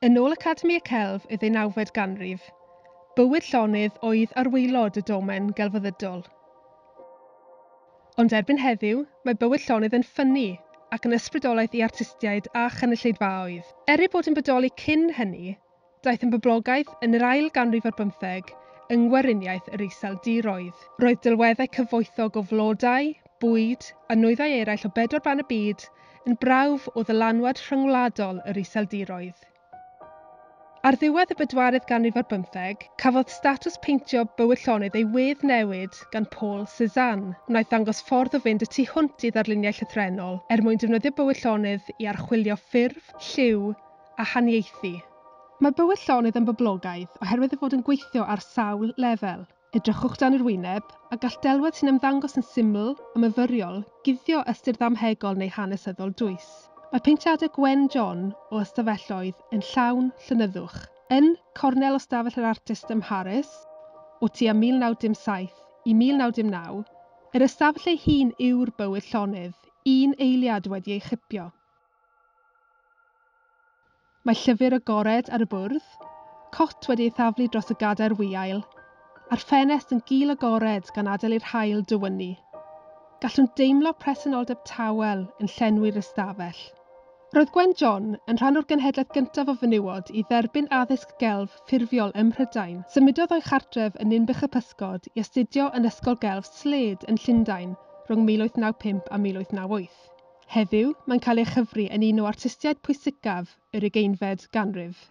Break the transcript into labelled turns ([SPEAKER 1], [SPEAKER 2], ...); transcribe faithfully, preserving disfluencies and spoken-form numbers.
[SPEAKER 1] Yn ôl Academi y Celf y ddeunawfed ganrif, bywyd llonydd oedd ar waelod y domen gelfyddydol. Ond erbyn heddiw, mae bywyd llonydd yn ffynnu ac yn ysbrydoliaeth i artistiaid a chynulleidfaoedd. Er ei bod yn bodoli cyn hynny, daeth yn boblogaidd yn yr ail ganrif ar bymtheg yng Ngweriniaeth yr Iseldiroedd. Roedd delweddau cyfoethog o flodau, bwyd a nwyddau eraill o bedwar ban y byd yn brawf o ddylanwad rhyngwladol yr Iseldiroedd. Ar ddiwedd y bedwaredd ganrif ar bymtheg, cafodd statws peintio bywyd llonydd ei weddnewid gan Paul Cézanne, wnaeth ddangos ffordd o fynd y tu hwnt i ddarluniau llythrennol er mwyn defnyddio bywyd llonydd i archwilio ffurf, lliw a haniaethu. Mae bywyd llonydd yn boblogaidd oherwydd ei fod yn gweithio ar sawl lefel. Edrychwch dan yr wyneb a gall delwedd sy'n ymddangos yn syml a myfyriol guddio ystyr ddamhegol neu hanesyddol dwys. Mae peintiadau Gwen John o ystafelloedd yn llawn llonyddwch. Yn cornel o stafell yr artist ym Mharis, o tua mil naw dim saith i mil naw dim naw, yr ystafell ei hun yw'r bywyd llonydd, un eiliad wedi ei chipio. Mae llyfr agored ar y bwrdd, cot wedi ei thaflu dros y gadair wiail, a'r ffenest yn gul agored gan adael i'r haul dywynnu. Gallwn deimlo presenoldeb tawel yn llenwi'r ystafell. Roedd Gwen John yn rhan o'r genhedlaeth gyntaf o fenywod i dderbyn addysg gelf ffurfiol ym Mhrydain. Symudodd o'i chartref yn Ninbych y Pysgod i astudio yn Ysgol Gelf Slade yn Llundain rhwng mil wyth naw pump a mil wyth naw wyth. Heddiw, mae'n cael ei chyfri yn un o artistiaid pwysicaf yr ugeinfed ganrif.